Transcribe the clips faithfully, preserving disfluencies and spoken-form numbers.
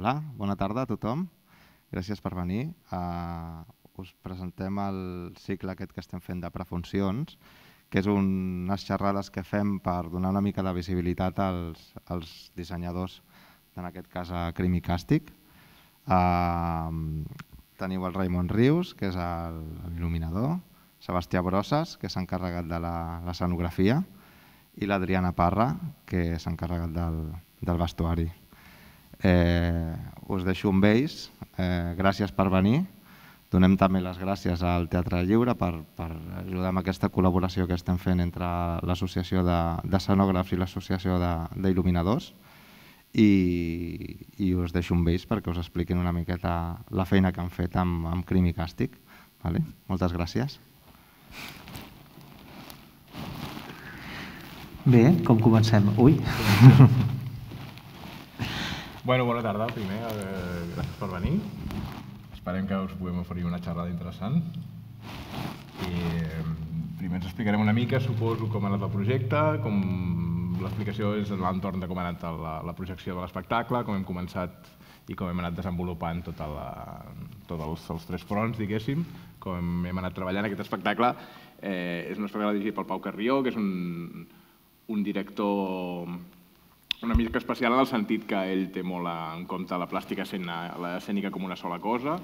Hola, bona tarda a tothom. Gràcies per venir. Us presentem el cicle aquest que estem fent de prefuncions, que és unes xerrades que fem per donar una mica de visibilitat als dissenyadors, en aquest cas a Crim i Càstig. Teniu el Raimon Rius, que és l'il·luminador, Sebastià Brosses, que s'ha encarregat de l'escenografia, i l'Adriana Parra, que s'ha encarregat del vestuari. Us deixo amb ells. Gràcies per venir. Donem també les gràcies al Teatre Lliure per ajudar amb aquesta col·laboració que estem fent entre l'Associació d'Escenògrafs i l'Associació d'Il·luminadors. I us deixo amb ells perquè us expliquin una miqueta la feina que han fet amb Crim i Càstig. Moltes gràcies. Bé, com comencem? Ui! Bueno, bona tarda, primer, gràcies per venir. Esperem que us puguem oferir una xerrada interessant. Primer ens explicarem una mica, suposo, com ha anat el projecte, com l'explicació és l'entorn de com ha anat la projecció de l'espectacle, com hem començat i com hem anat desenvolupant tots els tres fronts, diguéssim, com hem anat treballant aquest espectacle. És un espectacle dirigit pel Pau Carrió, que és un director una mica especial en el sentit que ell té molt en compte la plàstica escènica com una sola cosa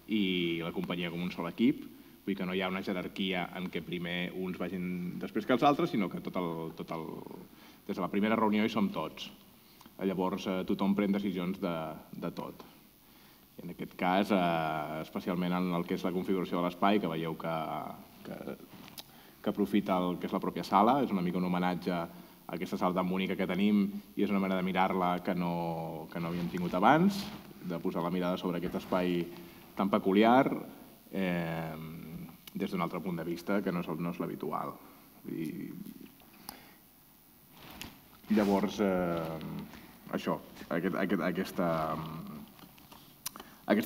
i la companyia com un sol equip. Vull dir que no hi ha una jerarquia en què primer uns vagin després que els altres, sinó que des de la primera reunió hi som tots. Llavors tothom pren decisions de tot. En aquest cas, especialment en el que és la configuració de l'espai, que veieu que aprofita el que és la pròpia sala, és una mica un homenatge a aquesta sala tan bonica que tenim i és una manera de mirar-la que no havíem tingut abans, de posar la mirada sobre aquest espai tan peculiar des d'un altre punt de vista que no és l'habitual. Llavors, això, aquesta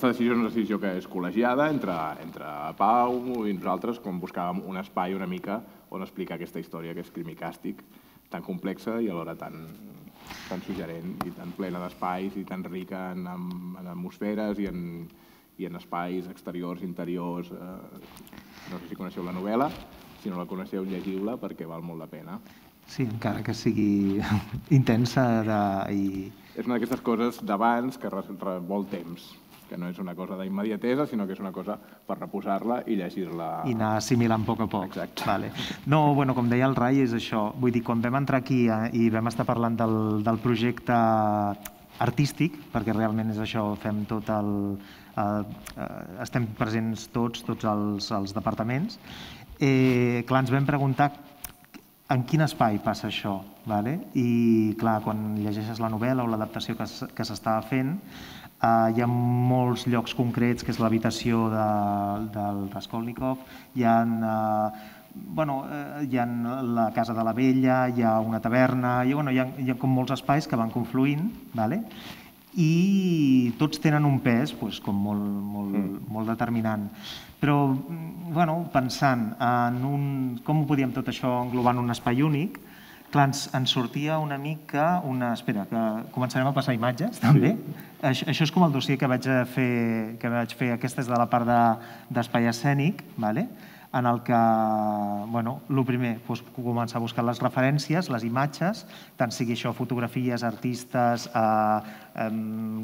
decisió és una decisió que és col·legiada entre Pau i nosaltres, quan buscàvem un espai una mica on explicar aquesta història que és Crim i Càstig, tan complexa i alhora tan suggerent i tan plena d'espais i tan rica en atmosferes i en espais exteriors, interiors. No sé si coneixeu la novel·la, si no la coneixeu, llegiu-la perquè val molt la pena. Sí, encara que sigui intensa i... És una d'aquestes coses d'abans que vol temps, que no és una cosa d'immediatesa, sinó que és una cosa per reposar-la i llegir-la... I anar assimilant a poc a poc. Exacte. No, bueno, com deia el Rai, és això. Vull dir, quan vam entrar aquí i vam estar parlant del projecte artístic, perquè realment és això, fem tot el... estem presents tots, tots els departaments, clar, ens vam preguntar en quin espai passa això, i clar, quan llegeixes la novel·la o l'adaptació que s'estava fent, hi ha molts llocs concrets, que és l'habitació del Raskolnikov, hi ha la casa de la vella, hi ha una taverna, hi ha com molts espais que van confluint i tots tenen un pes molt determinant. Però pensant en com ho podíem tot això englobar en un espai únic, clar, ens sortia una mica una... Espera, que començarem a passar imatges, també. Això és com el dossier que vaig fer, aquesta és de la part d'espai escènic, en el que, bueno, el primer, començar a buscar les referències, les imatges, tant sigui això fotografies, artistes,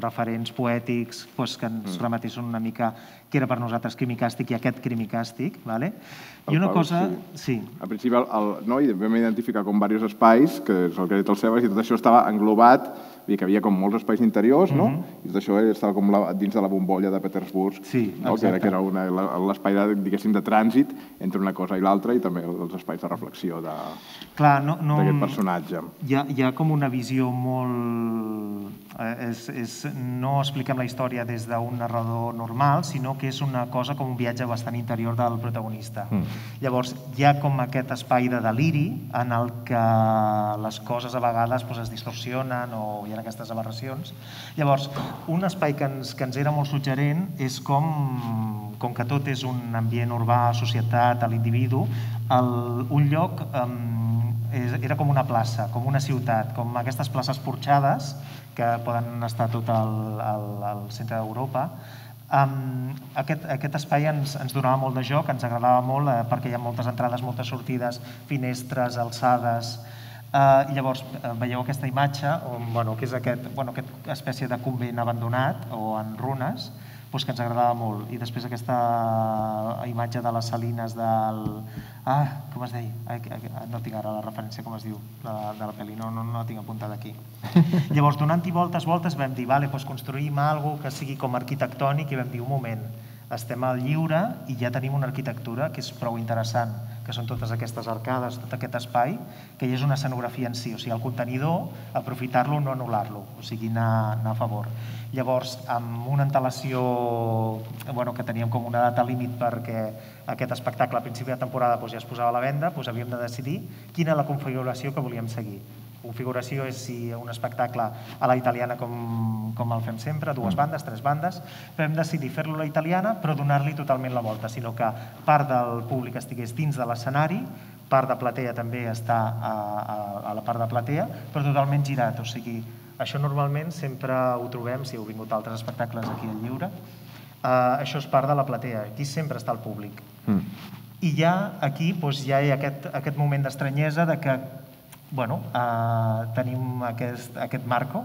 referents poètics, que ens remetissin una mica què era per nosaltres Crim i Càstig i aquest Crim i Càstig. I una cosa... Sí. Al principi vam identificar com diversos espais, que és el que ha dit el Sebas, i tot això estava englobat, vull dir que hi havia com molts espais interiors, no? I tot això estava com dins de la bombolla de Petersburg, que era l'espai, diguéssim, de trànsit entre una cosa i l'altra i també els espais de reflexió d'aquest personatge. Hi ha com una visió molt... No expliquem la història des d'un narrador normal, sinó que és una cosa com un viatge bastant interior del protagonista. Llavors, hi ha com aquest espai de deliri en el que les coses a vegades es distorsionen o hi ha aquestes aberracions. Llavors, un espai que ens era molt suggerent és com que tot és un ambient urbà, societat, a l'individu, un lloc era com una plaça, com una ciutat, com aquestes places porxades que poden estar tot al centre d'Europa. Aquest espai ens donava molt de joc, ens agradava molt perquè hi ha moltes entrades, moltes sortides, finestres, alçades. Llavors veieu aquesta imatge, que és aquesta espècie de convent abandonat o en runes, que ens agradava molt. I després aquesta imatge de les salines del... Ah, com es deia? No tinc ara la referència, com es diu, de la pel·li, no la tinc apuntada aquí. Llavors, donant-hi voltes, voltes, vam dir, vale, doncs construïm alguna cosa que sigui com arquitectònic i vam dir, un moment, estem al lliure i ja tenim una arquitectura que és prou interessant, que són totes aquestes arcades, tot aquest espai, que ja és una escenografia en si, o sigui, el contenidor, aprofitar-lo, no anul·lar-lo, o sigui, anar a favor. Llavors, amb una antelació que teníem com una data límit perquè aquest espectacle a principi de temporada ja es posava a la venda, havíem de decidir quina és la configuració que volíem seguir. Configuració és si un espectacle a la italiana com el fem sempre, dues bandes, tres bandes, però hem decidit fer-lo a la italiana però donar-li totalment la volta, sinó que part del públic estigués dins de l'escenari, part de platea també està a la part de platea, però totalment girat, o sigui, això normalment sempre ho trobem, si heu vingut a altres espectacles aquí al Lliure, això és part de la platea, aquí sempre està el públic. I ja aquí ja hi ha aquest moment d'estranyesa de que tenim aquest marco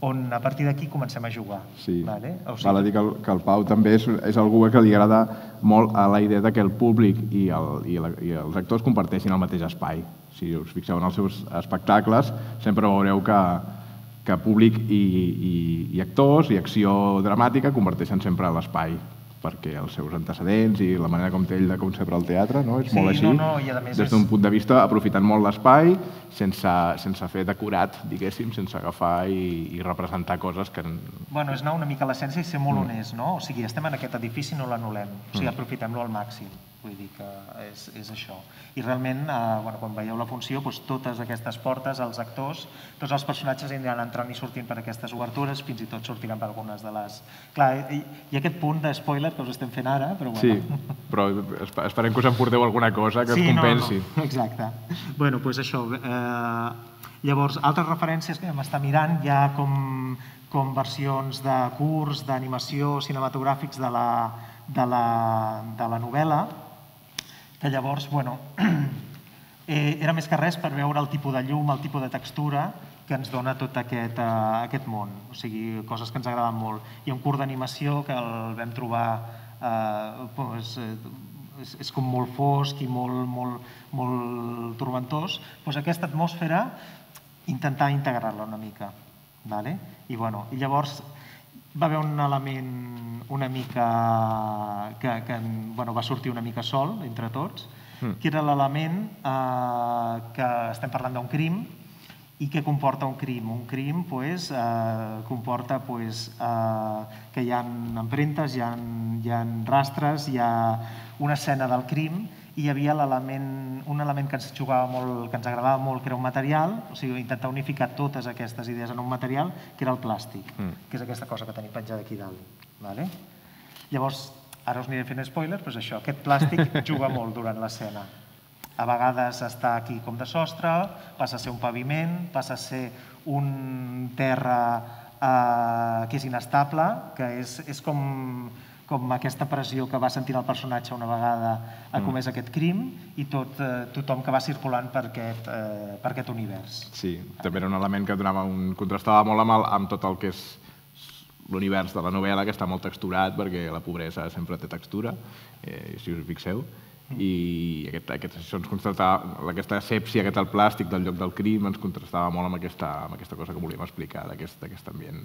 on a partir d'aquí comencem a jugar. Sí, val a dir que el Pau també és algú que li agrada molt a la idea que el públic i els actors comparteixin el mateix espai. Si us fixeu en els seus espectacles, sempre veureu que públic i actors i acció dramàtica comparteixen sempre l'espai, perquè els seus antecedents i la manera com té ell de concebre el teatre és molt així, des d'un punt de vista aprofitant molt l'espai, sense fer decorat, diguéssim, sense agafar i representar coses que... Bueno, és anar una mica a l'essència i ser molt honest, no? O sigui, estem en aquest edifici i no l'anul·lem, o sigui, aprofitem-lo al màxim, vull dir que és això. I realment, quan veieu la funció, totes aquestes portes, els actors, tots els personatges aniran entrant i sortint per aquestes obertures, fins i tot sortiran per algunes de les... Clar, hi ha aquest punt de spoiler que us estem fent ara, però bueno... Sí, però esperem que us emporteu alguna cosa que us compensi. Sí, no, no, exacte. Bueno, doncs això. Llavors, altres referències que vam estar mirant, hi ha com versions de curs, d'animació, cinematogràfics de la novel·la, que llavors, bueno, era més que res per veure el tipus de llum, el tipus de textura que ens dona tot aquest món, o sigui, coses que ens agraden molt. Hi ha un curs d'animació que el vam trobar, és com molt fosc i molt torbentós, doncs aquesta atmosfera intentar integrar-la una mica. I llavors va haver un element una mica que va sortir una mica sol entre tots, que era l'element que estem parlant d'un crim i què comporta un crim. Un crim comporta que hi ha empremtes, hi ha rastres, hi ha una escena del crim i hi havia un element que ens jugava molt, que ens agradava molt, que era un material, o sigui, intentar unificar totes aquestes idees en un material, que era el plàstic, que és aquesta cosa que tenim penjada aquí dalt. Llavors, ara us aniré fent spoilers, però és això, aquest plàstic juga molt durant l'escena. A vegades està aquí com de sostre, passa a ser un paviment, passa a ser un terra que és inestable, que és com aquesta pressió que va sentir el personatge una vegada ha comès aquest crim i tothom que va circulant per aquest univers. Sí, també era un element que contrastava molt amb tot el que és l'univers de la novel·la, que està molt texturat, perquè la pobresa sempre té textura, si us fixeu, i aquesta asèpsia, aquest plàstic del lloc del crim ens contrastava molt amb aquesta cosa que volíem explicar, d'aquest ambient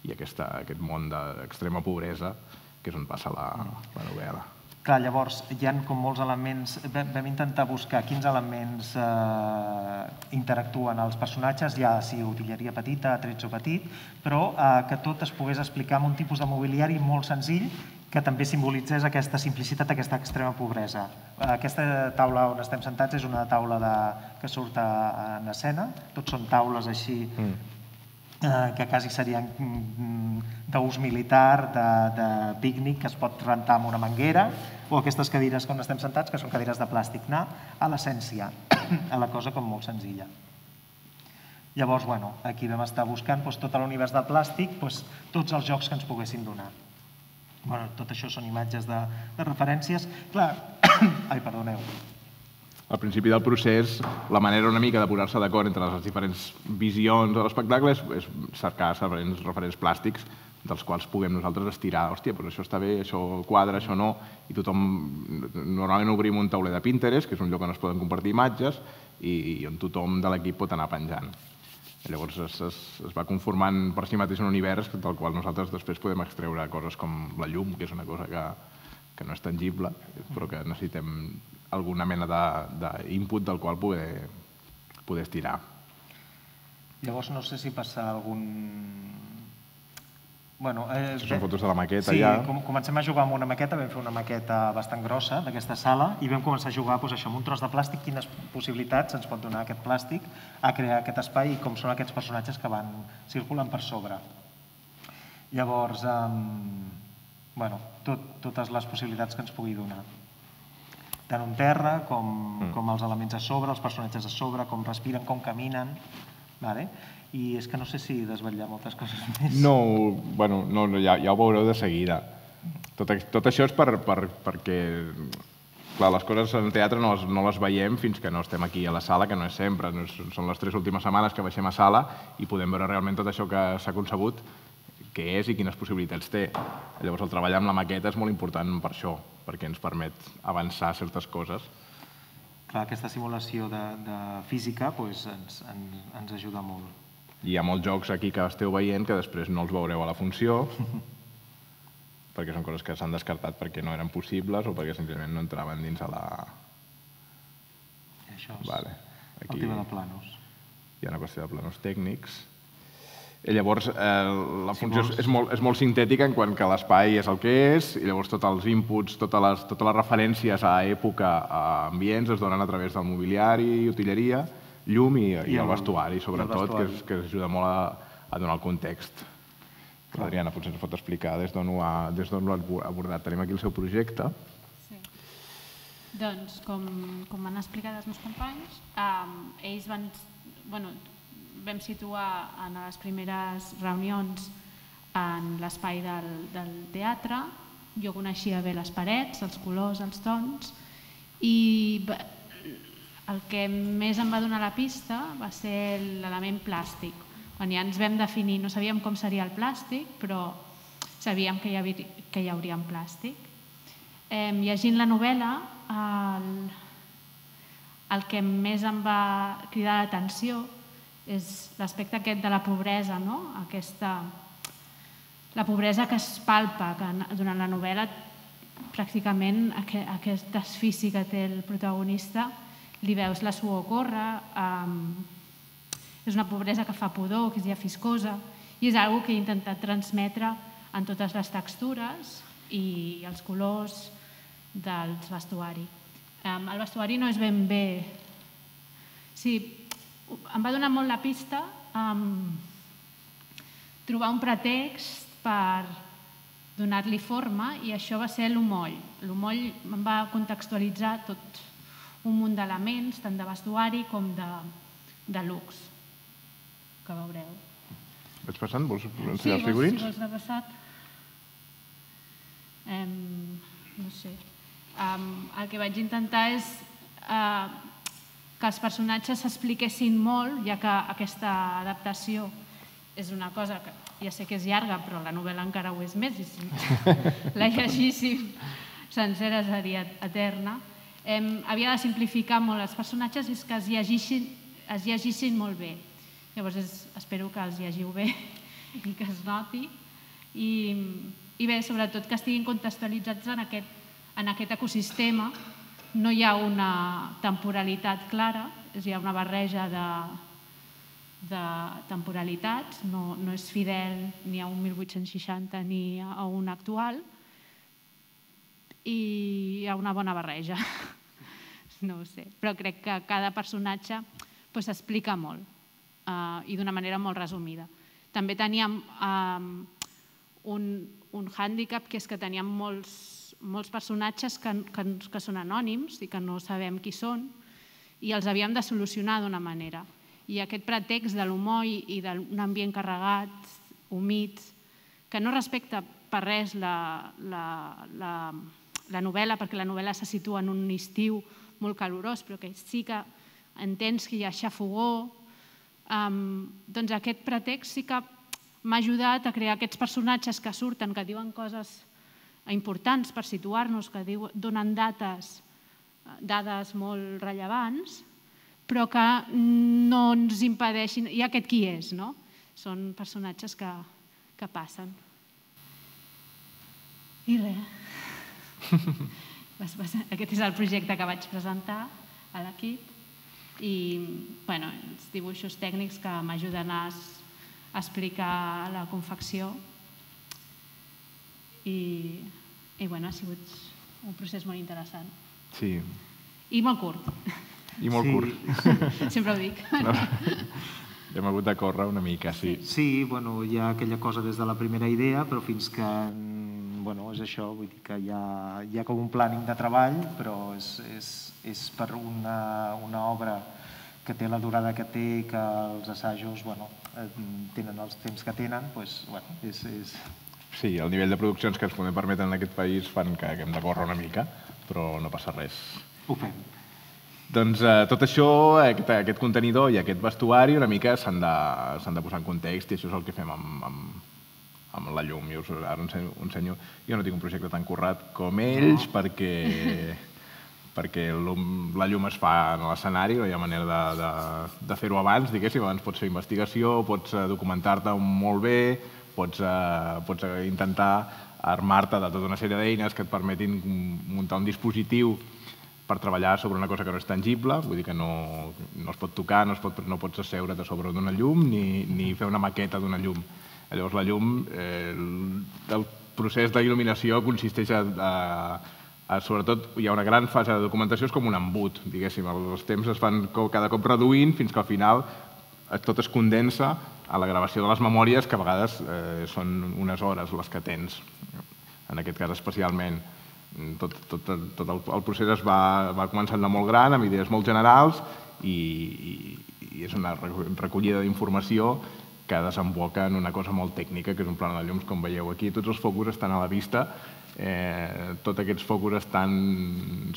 i aquest món d'extrema pobresa, que és on passa la novel·la. Clar, llavors, hi ha com molts elements, vam intentar buscar quins elements interactuen els personatges, ja sigui utilleria petita, attrezzo petit, però que tot es pogués explicar amb un tipus de mobiliari molt senzill que també simbolitzés aquesta simplicitat, aquesta extrema pobresa. Aquesta taula on estem sentats és una taula que surt en escena, tots són taules així que quasi serien d'ús militar, de pícnic, que es pot rentar amb una manguera, o aquestes cadires on estem sentats, que són cadires de plàstic. Anar a l'essència, a la cosa com molt senzilla. Llavors, bueno, aquí vam estar buscant tot l'univers del plàstic, tots els jocs que ens poguessin donar. Tot això són imatges de referències. Clar, ai, perdoneu. Al principi del procés, la manera una mica de posar-se d'acord entre les diferents visions de l'espectacle és cercar referents plàstics dels quals puguem nosaltres estirar. Hòstia, però això està bé, això quadra, això no. I tothom, normalment obrim un tauler de Pinterest, que és un lloc on es poden compartir imatges i on tothom de l'equip pot anar penjant. Llavors es va conformant per si mateix un univers del qual nosaltres després podem extreure coses com la llum, que és una cosa que no és tangible, però que necessitem alguna mena d'input del qual poder estirar. Llavors no sé si passa algun... Són fotos de la maqueta ja. Sí, comencem a jugar amb una maqueta, vam fer una maqueta bastant grossa d'aquesta sala i vam començar a jugar amb un tros de plàstic, quines possibilitats ens pot donar aquest plàstic a crear aquest espai i com són aquests personatges que van circulant per sobre. Llavors, totes les possibilitats que ens pugui donar. Tant un terra com els elements a sobre, els personatges a sobre, com respiren, com caminen. I és que no sé si desvetllar moltes coses més. No, bueno, ja ho veureu de seguida. Tot això és perquè, clar, les coses en teatre no les veiem fins que no estem aquí a la sala, que no és sempre. Són les tres últimes setmanes que baixem a sala i podem veure realment tot això que s'ha concebut, què és i quines possibilitats té. Llavors el treball amb la maqueta és molt important per això, perquè ens permet avançar certes coses. Clar, aquesta simulació de física ens ajuda molt. Hi ha molts jocs aquí que esteu veient que després no els veureu a la funció perquè són coses que s'han descartat perquè no eren possibles o perquè senzillament no entraven dins a la... Això és el tema de planos. Hi ha una qüestió de planos tècnics. Llavors, la funció és molt sintètica en quant que l'espai és el que és i llavors tots els inputs, totes les referències a època, a ambients, es donen a través del mobiliari, utilleria, llum i el vestuari, sobretot, que ajuda molt a donar el context. L'Adriana potser ens pot explicar des d'on ho ha abordat. Tenim aquí el seu projecte. Sí. Doncs, com han explicat els meus companys, ells van... vam situar en les primeres reunions en l'espai del teatre. Jo coneixia bé les parets, els colors, els tons, i el que més em va donar la pista va ser l'element plàstic. Quan ja ens vam definir, no sabíem com seria el plàstic, però sabíem que hi hauria un plàstic. Llegint la novel·la, el que més em va cridar l'atenció és l'aspecte aquest de la pobresa, la pobresa que es palpa, que durant la novel·la pràcticament aquest desfici que té el protagonista li veus la suor córrer, és una pobresa que fa pudor, que és llafiscosa, i és una cosa que he intentat transmetre en totes les textures i els colors del vestuari. El vestuari no és ben bé... Sí, em va donar molt la pista trobar un pretext per donar-li forma i això va ser l'Homoll. L'Homoll em va contextualitzar tot un munt d'elements, tant de vestuari com de looks, que veureu. Vaig passant? Vols ensenyar els figurins? Sí, vols de passat. No sé. El que vaig intentar és que els personatges s'expliquessin molt, ja que aquesta adaptació és una cosa que ja sé que és llarga, però la novel·la encara ho és més, i si la llegíssim sencera seria eterna. Havia de simplificar molt els personatges i que es llegissin molt bé. Llavors espero que els llegiu bé i que es noti. I bé, sobretot que estiguin contextualitzats en aquest ecosistema. No hi ha una temporalitat clara, hi ha una barreja de temporalitats, no és fidel ni a un mil vuit-cents seixanta ni a un actual, i hi ha una bona barreja, no ho sé, però crec que cada personatge s'explica molt i d'una manera molt resumida. També teníem un hàndicap, que és que teníem molts molts personatges que, que, que són anònims i que no sabem qui són i els havíem de solucionar d'una manera. I aquest pretext de l'humor i, i d'un ambient carregat, humit, que no respecta per res la, la, la, la novel·la, perquè la novel·la se situa en un estiu molt calorós, però que sí que entens que hi ha xafogó. Um, doncs aquest pretext sí que m'ha ajudat a crear aquests personatges que surten, que diuen coses importants per situar-nos, que diu, donen dates, dades molt rellevants, però que no ens impedeixin... I aquest qui és, no? Són personatges que, que passen. I res. Aquest és el projecte que vaig presentar a l'equip i bueno, els dibuixos tècnics que m'ajuden a explicar la confecció i, i bueno, ha sigut un procés molt interessant. Sí. I molt curt. I molt Sí. curt. Sempre ho dic. No. Hem hagut de córrer una mica, sí. Sí, bueno, hi ha aquella cosa des de la primera idea, però fins que, bueno, és això, vull dir que hi ha, hi ha com un planning de treball, però és, és, és per una, una obra que té la durada que té, que els assajos, bueno, tenen els temps que tenen, doncs, bueno, és... és... Sí, el nivell de produccions que ens podem permetre en aquest país fan que hem de córrer una mica, però no passa res. Ho fem. Doncs eh, tot això, aquest, aquest contenidor i aquest vestuari una mica s'han de, s'han de posar en context i això és el que fem amb, amb, amb la llum. Jo us, ara us ensenyo, us ensenyo. Jo no tinc un projecte tan currat com ells no. perquè, perquè la llum es fa en l'escenari, no hi ha manera de, de, de fer-ho abans, diguéssim. Abans pots fer investigació, pots documentar-te molt bé, pots, eh, pots intentar armar-te de tota una sèrie d'eines que et permetin muntar un dispositiu per treballar sobre una cosa que no és tangible, vull dir que no, no es pot tocar, no, es pot, no pots asseure't a sobre d'una llum ni, ni fer una maqueta d'una llum. Llavors la llum, eh, el, el procés d'il·luminació consisteix a, a, a, sobretot, hi ha una gran fase de documentació, és com un embut, diguéssim, els temps es van cada cop reduint fins que al final tot es condensa a la gravació de les memòries, que a vegades eh, són unes hores les que tens, en aquest cas especialment. Tot, tot, tot el, el procés es va, va començant de molt gran, amb idees molt generals i, i, i és una recollida d'informació que desemboca en una cosa molt tècnica, que és un plano de llums, com veieu aquí. Tots els focus estan a la vista, eh, tots aquests focus estan,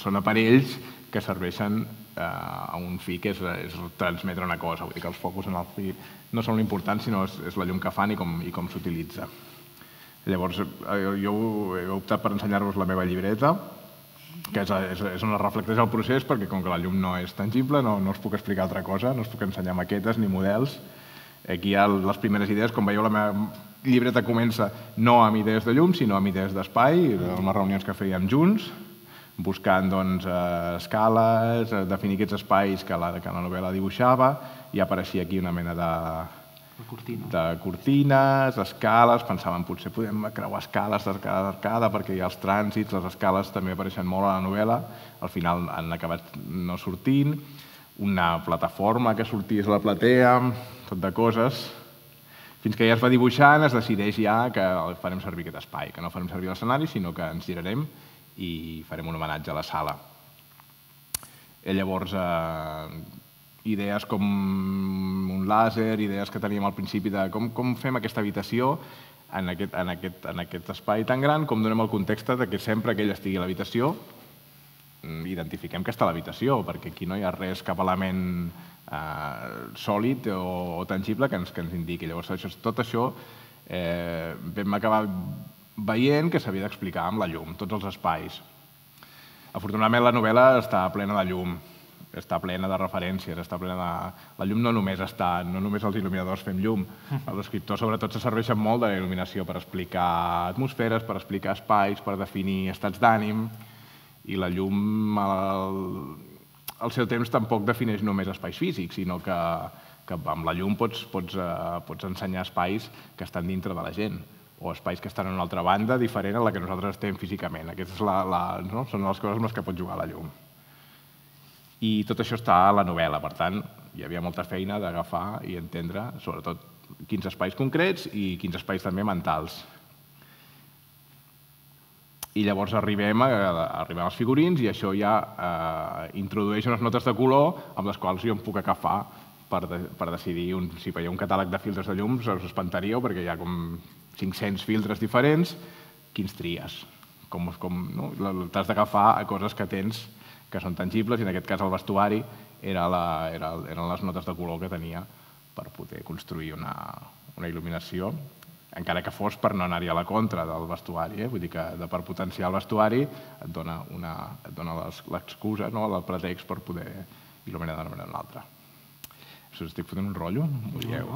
són aparells que serveixen eh, a un fi que és, és transmetre una cosa. Vull dir que els focus en el fi no són l'important, sinó és, és la llum que fan i com, i com s'utilitza. Llavors, jo he optat per ensenyar-vos la meva llibreta, que és, és, és on es reflecteix el procés, perquè com que la llum no és tangible, no, no us puc explicar altra cosa, no us puc ensenyar maquetes ni models. Aquí hi ha les primeres idees, com veieu la meva llibreta comença no amb idees de llum, sinó amb idees d'espai, amb les reunions que fèiem junts, buscant doncs, escales, definir aquests espais que la, que la novel·la dibuixava, i apareixia aquí una mena de... Cortina. de cortines, escales, pensàvem potser podem creuar escales d'arcada d'arcada perquè hi ha els trànsits, les escales també apareixen molt a la novel·la, al final han acabat no sortint, una plataforma que sortís a la platea, tot de coses, fins que ja es va dibuixant, es decideix ja que farem servir aquest espai, que no farem servir l'escenari, sinó que ens girarem i farem un homenatge a la sala. I llavors, eh, idees com un làser, idees que teníem al principi de com, com fem aquesta habitació en aquest, en, aquest, en aquest espai tan gran, com donem el context de que sempre que ell estigui a l'habitació identifiquem que està a l'habitació, perquè aquí no hi ha res, cap element eh, sòlid o, o tangible que ens, que ens indiqui. Llavors, això, tot això eh, vam acabar veient que s'havia d'explicar amb la llum, tots els espais. Afortunadament, la novel·la està plena de llum, està plena de referències, està plena de... La llum no només està, no només els il·luminadors fem llum, els escriptors sobretot se serveixen molt de la il·luminació per explicar atmosferes, per explicar espais, per definir estats d'ànim, i la llum al, al seu temps tampoc defineix només espais físics, sinó que, que amb la llum pots, pots, uh, pots ensenyar espais que estan dintre de la gent, o espais que estan en una altra banda diferent a la que nosaltres estem físicament. Aquestes la, la, no? són les coses amb les que pot jugar la llum. I tot això està a la novel·la, per tant, hi havia molta feina d'agafar i entendre, sobretot, quins espais concrets i quins espais també mentals. I llavors arribem, a, arribem als figurins i això ja eh, introdueix unes notes de color amb les quals jo em puc agafar per, de, per decidir un, si veieu un catàleg de filtres de llums, us espantaríeu perquè hi ha com cinc-cents filtres diferents, quins tries? Com, com, no? T'has d'agafar a coses que tens que són tangibles i en aquest cas el vestuari era la, era, eren les notes de color que tenia per poder construir una, una il·luminació, encara que fos per no anar-hi a la contra del vestuari, eh? Vull dir que de, per potenciar el vestuari et dona, una, et dona l'excusa, no? El pretext per poder il·luminar d'una manera o una altra. Us estic fotent un rotllo? M'ho dieu?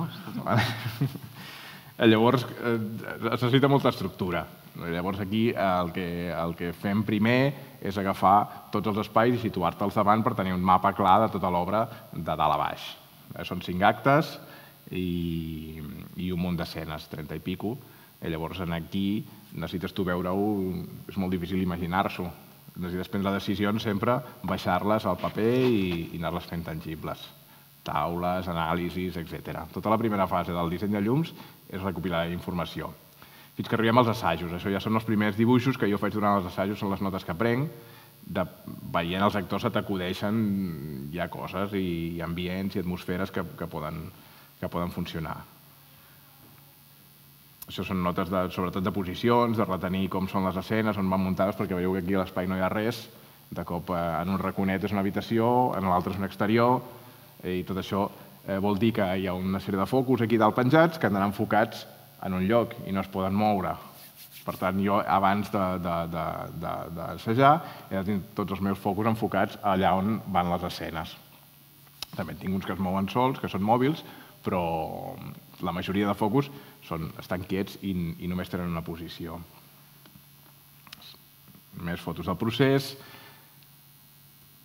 Llavors, eh, es necessita molta estructura. Llavors aquí el que, el que fem primer és agafar tots els espais i situar-te'ls davant per tenir un mapa clar de tota l'obra de dalt a baix. Eh, són cinc actes i, i un munt d'escenes, trenta i pico. I llavors aquí necessites tu veure-ho, és molt difícil imaginar-s'ho. Necessites prendre decisions sempre, baixar-les al paper i, i anar-les fent tangibles. Taules, anàlisis, etcètera. Tota la primera fase del disseny de llums és recopilar informació. Fins que arribem als assajos. Això ja són els primers dibuixos que jo faig durant els assajos, són les notes que prenc. De, veient els actors se t'acudeixen ja coses i ambients i atmosferes que, que, poden, que poden funcionar. Això són notes de, sobretot de posicions, de retenir com són les escenes, on van muntades, perquè veieu que aquí a l'espai no hi ha res. De cop en un raconet és una habitació, en l'altre és un exterior, i tot això eh, vol dir que hi ha una sèrie de focus aquí dalt penjats que anaran enfocats en un lloc i no es poden moure. Per tant, jo abans d'assajar he de tenir tots els meus focus enfocats allà on van les escenes. També en tinc uns que es mouen sols, que són mòbils, però la majoria de focus són, estan quiets i, i només tenen una posició. Més fotos del procés,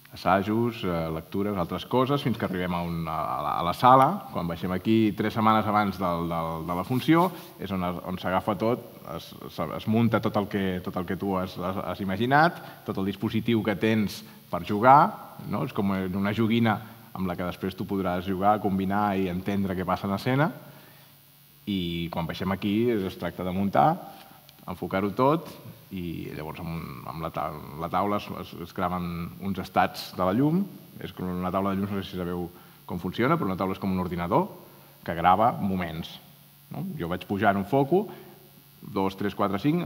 assajos, lectures, altres coses, fins que arribem a, una, a la sala. Quan baixem aquí tres setmanes abans del, del, de la funció, és on, on s'agafa tot, es, es munta tot el que, tot el que tu has, has imaginat, tot el dispositiu que tens per jugar, no? És com una joguina amb la que després tu podràs jugar, combinar i entendre què passa en escena. I quan baixem aquí es tracta de muntar, enfocar-ho tot, i llavors amb la taula es graven uns estats de la llum. És com una taula de llum, no sé si sabeu com funciona, però una taula és com un ordinador que grava moments. Jo vaig pujar en un foco, dos, tres, quatre, cinc,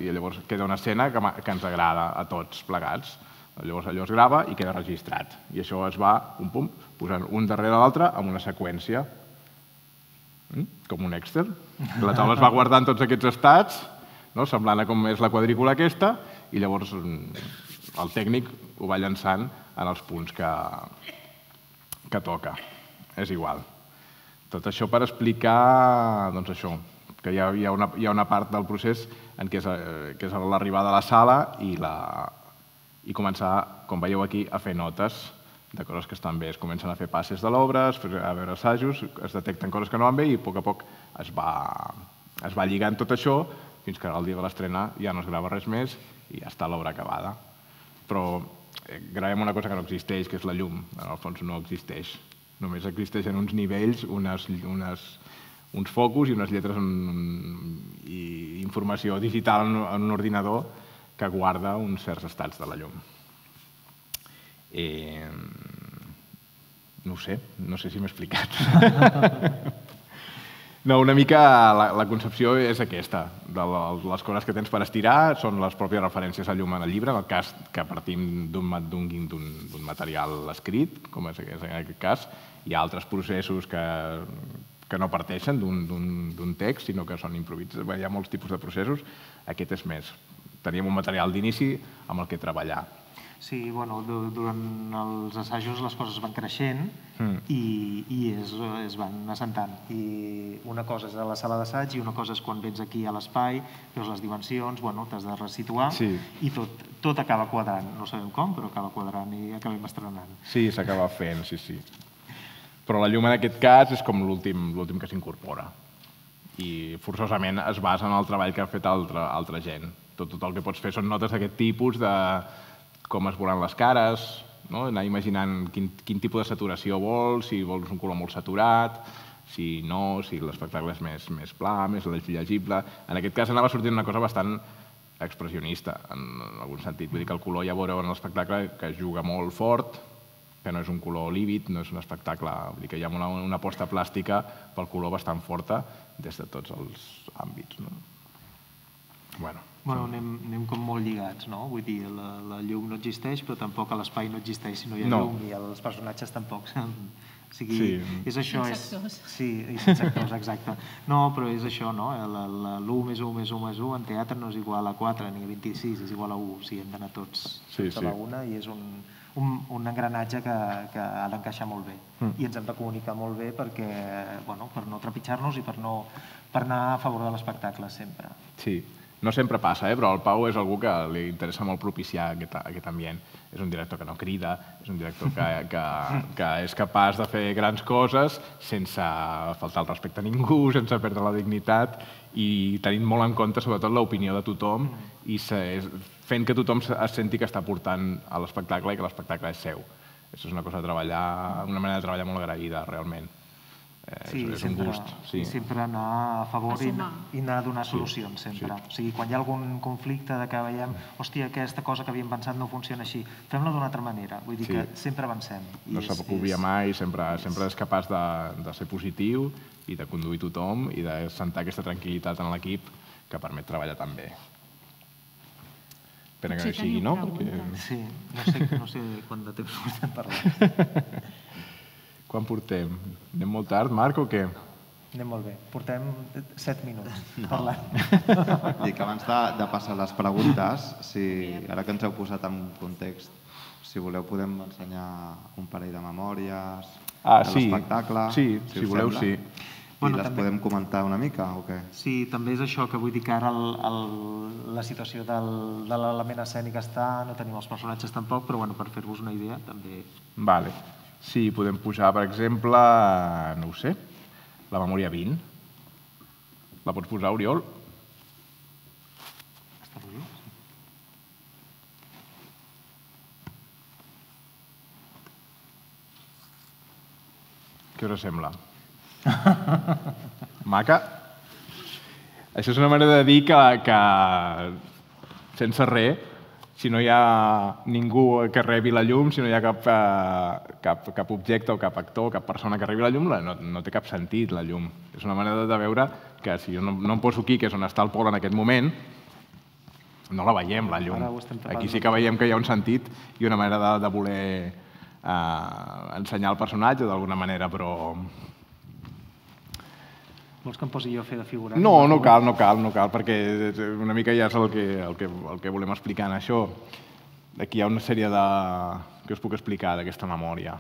i llavors queda una escena que ens agrada a tots plegats. Llavors allò es grava i queda registrat. I això es va, pum, pum, posant un darrere l'altre amb una seqüència. Com un Excel. La taula es va guardant tots aquests estats, semblant a com és la quadrícula aquesta, i llavors el tècnic ho va llançant en els punts que toca. És igual. Tot això per explicar que hi ha una part del procés que és l'arribada a la sala i començar, com veieu aquí, a fer notes de coses que estan bé. Es comencen a fer passes de l'obra, a veure assajos, es detecten coses que no van bé i a poc a poc es va lligant tot això fins que el dia de l'estrena ja no es grava res més i ja està l'obra acabada. Però gravem una cosa que no existeix, que és la llum. En el fons no existeix. Només existeixen uns nivells, uns focus i unes lletres i informació digital en un ordinador que guarda uns certs estats de la llum. No ho sé, no sé si m'he explicat. No, una mica la concepció és aquesta. Les coses que tens per estirar són les pròpies referències a llum en el llibre, en el cas que partim d'un material escrit, com és en aquest cas. Hi ha altres processos que no parteixen d'un text, sinó que són improvisats. Hi ha molts tipus de processos. Aquest és més. Teníem un material d'inici amb el que treballar. Sí, bueno, durant els assajos les coses van creixent i es van assentant. I una cosa és a la sala d'assaig i una cosa és quan vens aquí a l'espai, veus les dimensions, t'has de resituar i tot acaba quadrant. No sabem com, però acaba quadrant i acabem estrenant. Sí, s'acaba fent, sí, sí. Però la llum en aquest cas és com l'últim que s'incorpora. I forçosament es basa en el treball que ha fet altra gent. Tot el que pots fer són notes d'aquest tipus de com es veuran les cares, anar imaginant quin tipus de saturació vols, si vols un color molt saturat, si no, si l'espectacle és més pla, més llegible. En aquest cas anava sortint una cosa bastant expressionista, en algun sentit. Vull dir que el color ja veureu en l'espectacle que juga molt fort, que no és un color lívid, no és un espectacle... Vull dir que hi ha una, una aposta plàstica pel color bastant forta des de tots els àmbits. No? Bueno, bueno anem, anem com molt lligats, no? Vull dir, la, la llum no existeix, però tampoc l'espai no existeix si no hi ha no. llum, i els personatges tampoc. O sigui, sí. és això... Sense actors. És, sí, i sense actors, exacte. No, però és això, no? L'u més u més u més u en teatre no és igual a quatre ni a vint-i-sis, és igual a u. O sigui, hem d'anar tots, sí, tots sí. a la una i és un, un, un engranatge que, que ha d'encaixar molt bé. Mm. I ens hem de comunicar molt bé perquè, bueno, per no trepitjar-nos i per, no, per anar a favor de l'espectacle sempre. Sí. No sempre passa, eh? Però el Pau és algú que li interessa molt propiciar aquest, aquest ambient. És un director que no crida, és un director que, que, que és capaç de fer grans coses sense faltar el respecte a ningú, sense perdre la dignitat i tenint molt en compte sobretot l'opinió de tothom i se, fent que tothom es senti que està portant a l'espectacle i que l'espectacle és seu. Això és una cosa de treballar, una manera de treballar molt agraïda, realment. Eh, sí, és sempre, un gust. Sí. I sempre anar a favor i, i anar a donar solucions, sí, sempre. Sí. O sigui, quan hi ha algun conflicte de que veiem, hòstia, aquesta cosa que havíem pensat no funciona així, fem-la d'una altra manera. Vull dir sí. que sempre avancem. No s'acobia és... mai, sempre, sempre és capaç de, de ser positiu i de conduir tothom i de sentar aquesta tranquil·litat en l'equip que permet treballar tan bé. Espera que no hi sigui, no? Perquè... Sí, no sé, no sé quant de temps portem parlant. Quan portem? Anem molt tard, Marc, o què? Anem molt bé. Portem set minuts no. parlant. Dic, abans de, de passar les preguntes, si, ara que ens heu posat en context, si voleu podem ensenyar un parell de memòries ah, de sí. l'espectacle. Sí, si, si voleu, sembla. sí. I bueno, les també... podem comentar una mica, o què? Sí, també és això que vull dir que ara el, el, la situació del, de l'element escènic està, no tenim els personatges tampoc, però bueno, per fer-vos una idea també... Vale. Sí, podem posar, per exemple, no ho sé, la memòria vint. La pots posar, Oriol? Està bé, sí. Què us sembla? Maca? Això és una manera de dir que, que sense res, si no hi ha ningú que rebi la llum, si no hi ha cap, eh, cap, cap objecte o cap actor o cap persona que rebi la llum, no, no té cap sentit la llum. És una manera de veure que si jo no, no em poso aquí, que és on està el Pol en aquest moment, no la veiem, la llum. Aquí sí que veiem que hi ha un sentit i una manera de, de voler eh, ensenyar el personatge d'alguna manera, però... Vols que em posi jo a fer de figurant? No, no cal, no cal, no cal, perquè una mica ja és el que, el que, el que volem explicar en això. Aquí hi ha una sèrie de... que us puc explicar d'aquesta memòria.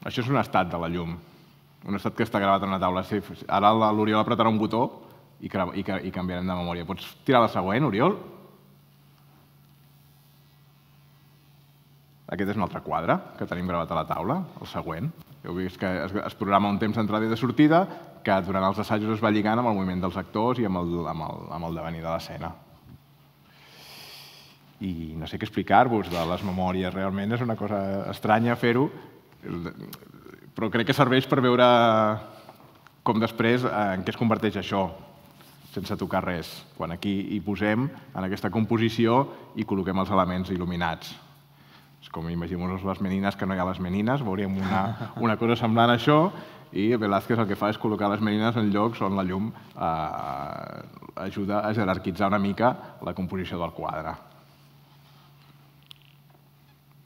Això és un estat de la llum, un estat que està gravat en una taula. Sí, ara l'Oriol apretarà un botó i, i, i canviarem de memòria. Pots tirar la següent, Oriol? Aquest és un altre quadre que tenim gravat a la taula, el següent. Heu vist que es, es programa un temps d'entrada i de sortida que durant els assajos es va lligant amb el moviment dels actors i amb el, amb el, amb el devenir de l'escena. I no sé què explicar-vos de les memòries, realment és una cosa estranya fer-ho, però crec que serveix per veure com després en què es converteix això, sense tocar res. Quan aquí hi posem, en aquesta composició, i col·loquem els elements il·luminats. És com imaginem-nos les menines que no hi ha les menines, veuríem una, una cosa semblant a això, i Velázquez el que fa és col·locar les menines en llocs on la llum eh, ajuda a jerarquitzar una mica la composició del quadre.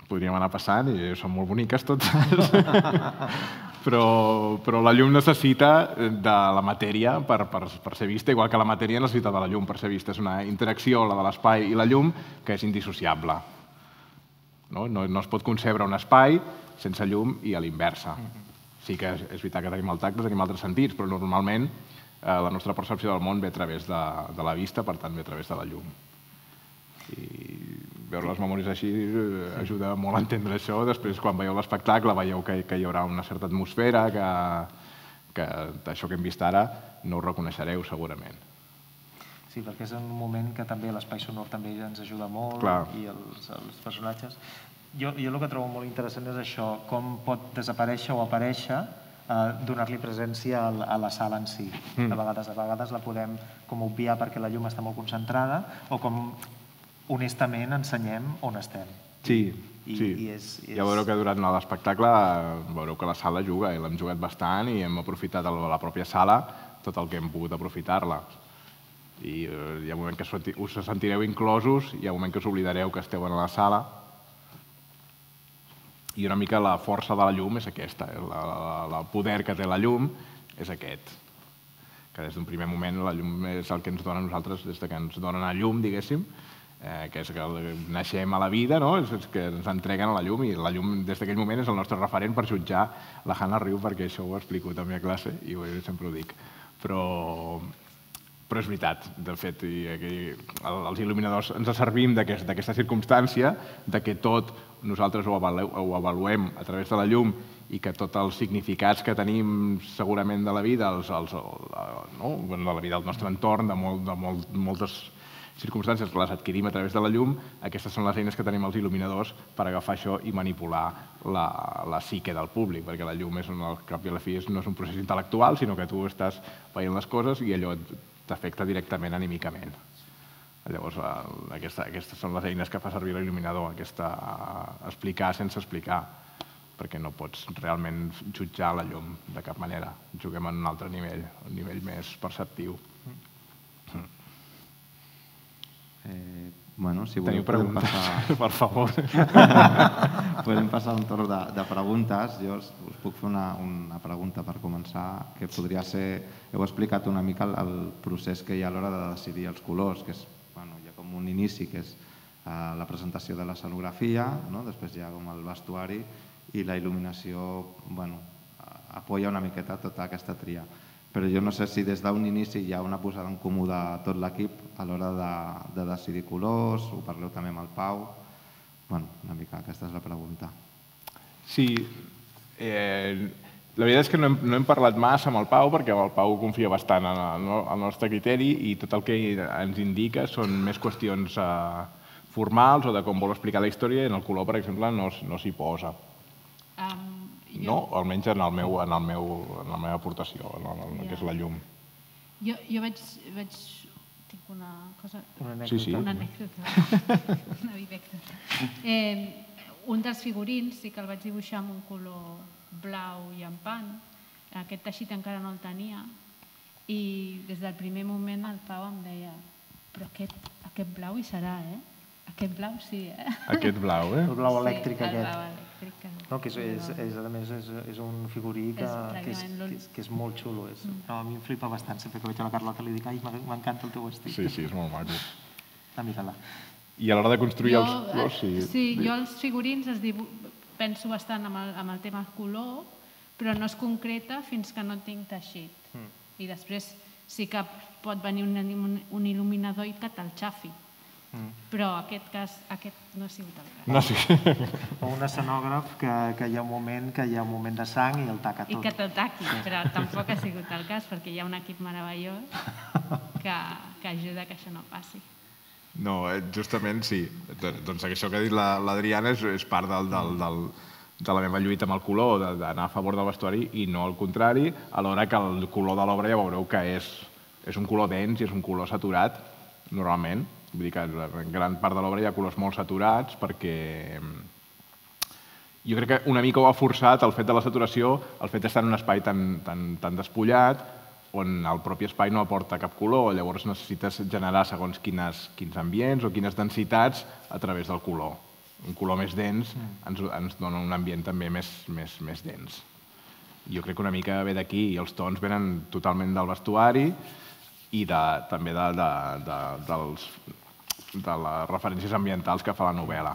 Podríem anar passant i són molt boniques totes, però, però la llum necessita de la matèria per, per, per ser vista, igual que la matèria necessita de la llum per ser vista. És una interacció, la de l'espai i la llum, que és indissociable. No? No, no es pot concebre un espai sense llum i a l'inversa. Sí que és, és veritat que tenim el tacte, tenim altres sentits, però normalment eh, la nostra percepció del món ve a través de, de la vista, per tant ve a través de la llum. I veure les memòries així eh, ajuda molt a entendre això. Després, quan veieu l'espectacle, veieu que, que hi haurà una certa atmosfera, que, que això que hem vist ara no ho reconeixereu segurament. Sí, perquè és un moment que també l'espai sonor també ens ajuda molt. Clar. I els, els personatges. Jo, jo el que trobo molt interessant és això, com pot desaparèixer o aparèixer, eh, donar-li presència a, a la sala en si. Mm. De vegades, a vegades la podem com obviar perquè la llum està molt concentrada, o com honestament ensenyem on estem. Sí, I, sí. I és, és... Ja veureu que durant l'espectacle veureu que la sala juga i l'hem jugat bastant i hem aprofitat a la pròpia sala tot el que hem pogut aprofitar-la. I hi ha un moment que us sentireu inclosos, hi ha un moment que us oblidareu que esteu a la sala. I una mica la força de la llum és aquesta, el poder que té la llum és aquest. Que des d'un primer moment la llum és el que ens dona a nosaltres, des que ens donen a llum, diguéssim, que és que naixem a la vida, és que ens entreguen a la llum i la llum des d'aquell moment és el nostre referent per jutjar. La Hanna riu perquè això ho explico també a classe i sempre ho dic. Però però és veritat, de fet, els il·luminadors ens servim d'aquesta circumstància, que tot nosaltres ho avaluem a través de la llum i que tots els significats que tenim segurament de la vida, de la vida del nostre entorn, de moltes circumstàncies que les adquirim a través de la llum, aquestes són les eines que tenim els il·luminadors per agafar això i manipular la psique del públic, perquè la llum, al cap i a la fi, no és un procés intel·lectual, sinó que tu estàs veient les coses i allò t'afecta directament anímicament. Llavors, aquestes són les eines que fa servir l'il·luminador, explicar sense explicar, perquè no pots realment jutjar la llum de cap manera. Juguem en un altre nivell, un nivell més perceptiu. Bueno, si voleu, podem passar... Per favor. Podem passar un torn de preguntes. Jo us puc fer una pregunta per començar, que podria ser... Heu explicat una mica el procés que hi ha a l'hora de decidir els colors, que és, bueno, hi ha com un inici, que és la presentació de l'escenografia, després hi ha com el vestuari i la il·luminació, bueno, apoya una miqueta tota aquesta tria. Però jo no sé si des d'un inici hi ha una posada en comú de tot l'equip a l'hora de decidir colors, ho parleu també amb el Pau. Bueno, una mica aquesta és la pregunta. Sí, la veritat és que no hem parlat massa amb el Pau perquè el Pau confia bastant en el nostre criteri i tot el que ens indica són més qüestions formals o de com vol explicar la història i en el color, per exemple, no s'hi posa. No, almenys en la meva aportació, en el que és la llum. Jo veig... Tinc una cosa... Una anècdota. Una anècdota. Una anècdota. Un dels figurins sí que el vaig dibuixar amb un color blau llampant. Aquest teixit encara no el tenia. I des del primer moment el Pau em deia però aquest blau hi serà, eh? Aquest blau sí, eh? Aquest blau, eh? El blau elèctric aquest. Sí, el blau elèctric. No, que a més és un figurí que és molt xulo. A mi em flipa bastant, sempre que veig a la Carlota li dic ai, m'encanta el teu vestit. Sí, sí, és molt maco. Ah, mira-la. I a l'hora de construir els colors... Sí, jo els figurins penso bastant amb el tema color, però no es concreta fins que no tinc teixit. I després sí que pot venir un il·luminador i que te'l xafi. Però aquest cas, aquest no ha sigut el cas. No, sí. O un escenògraf que hi ha un moment que hi ha un moment de sang i el taca tot. I que te'l taqui, però tampoc ha sigut el cas perquè hi ha un equip meravellós que ajuda que això no passi. No, justament sí. Doncs això que ha dit l'Adriana és part de la meva lluita amb el color, d'anar a favor del vestuari i no al contrari, alhora que el color de l'obra ja veureu que és un color dens i és un color saturat, normalment. Vull dir que en gran part de l'obra hi ha colors molt saturats perquè jo crec que una mica ho ha forçat el fet de la saturació, el fet d'estar en un espai tan despullat on el propi espai no aporta cap color, llavors necessites generar segons quins ambients o quines densitats a través del color. Un color més dens ens dona un ambient també més dens. Jo crec que una mica ve d'aquí i els tons venen totalment del vestuari i també de les referències ambientals que fa la novel·la.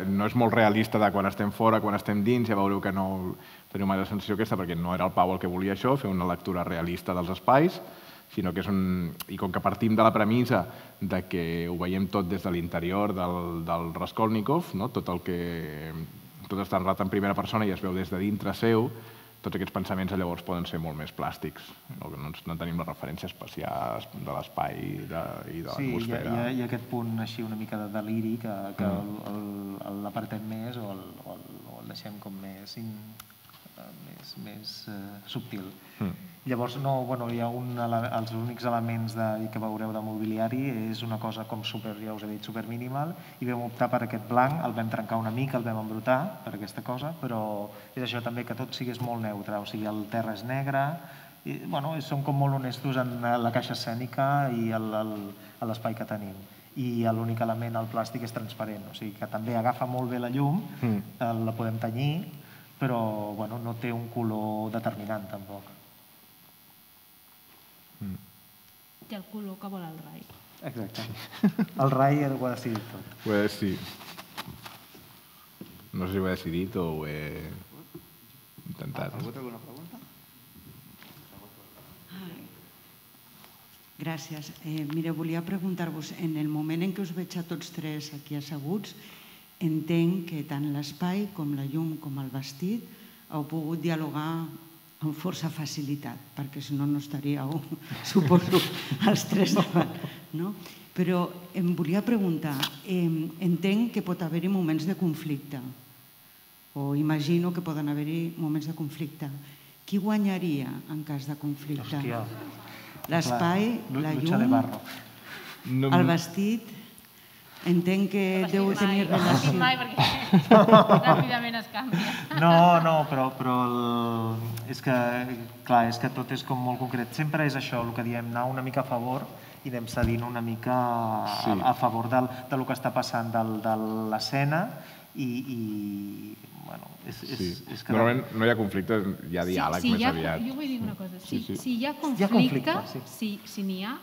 No és molt realista de quan estem fora, quan estem dins, ja veureu que no teniu mai la sensació aquesta perquè no era el Pau el que volia això, fer una lectura realista dels espais, sinó que és un... I com que partim de la premissa que ho veiem tot des de l'interior del Raskolnikov, tot el que... tot està narrat en primera persona i es veu des de dintre seu, tots aquests pensaments llavors poden ser molt més plàstics. No tenim la referència espacial de l'espai i de l'atmosfera. Sí, hi ha aquest punt així una mica de deliri que l'apartem més o el deixem com més més subtil. Llavors, hi ha els únics elements que veureu de mobiliari, és una cosa com super, ja us he dit, super minimal, i vam optar per aquest blanc, el vam trencar una mica, el vam embrutar per aquesta cosa, però és això també, que tot sigués molt neutre, o sigui, el terra és negre, som com molt honestos en la caixa escènica i l'espai que tenim. I l'únic element, el plàstic, és transparent, o sigui que també agafa molt bé la llum, la podem tenyir, però no té un color determinant tampoc. I el color que vol el Rai. Exacte. El Rai ho ha decidit tot. Ho he decidit. No sé si ho he decidit o ho he intentat. Ha hagut alguna pregunta? Gràcies. Mira, volia preguntar-vos, en el moment en què us veig a tots tres aquí asseguts, entenc que tant l'espai com la llum com el vestit heu pogut dialogar amb força facilitat, perquè si no no estaríeu, suposo, els tres davant. Però em volia preguntar, entenc que pot haver-hi moments de conflicte, o imagino que poden haver-hi moments de conflicte. Qui guanyaria en cas de conflicte? L'espai, la llum, el vestit? Entenc que deu tenir relació. No mai, perquè ràpidament es canvia. No, no, però és que, clar, és que tot és com molt concret. Sempre és això, el que diem, anar una mica a favor i anem cedint una mica a favor del que està passant de l'escena i, bueno, és que... Normalment no hi ha conflicte, hi ha diàleg més aviat. Jo vull dir una cosa, si hi ha conflicte, si n'hi ha,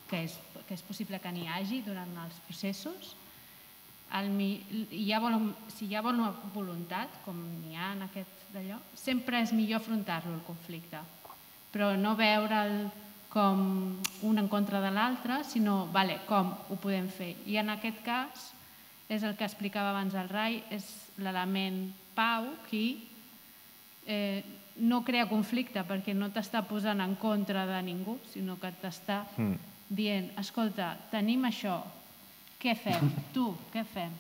que és que és possible que n'hi hagi durant els processos, si hi ha bona voluntat, com n'hi ha en aquest d'allò, sempre és millor afrontar-lo, el conflicte, però no veure'l com un en contra de l'altre, sinó com ho podem fer. I en aquest cas, és el que explicava abans el Rai, és l'element pau qui no crea conflicte perquè no t'està posant en contra de ningú, sinó que t'està dient, escolta, tenim això, què fem? Tu, què fem?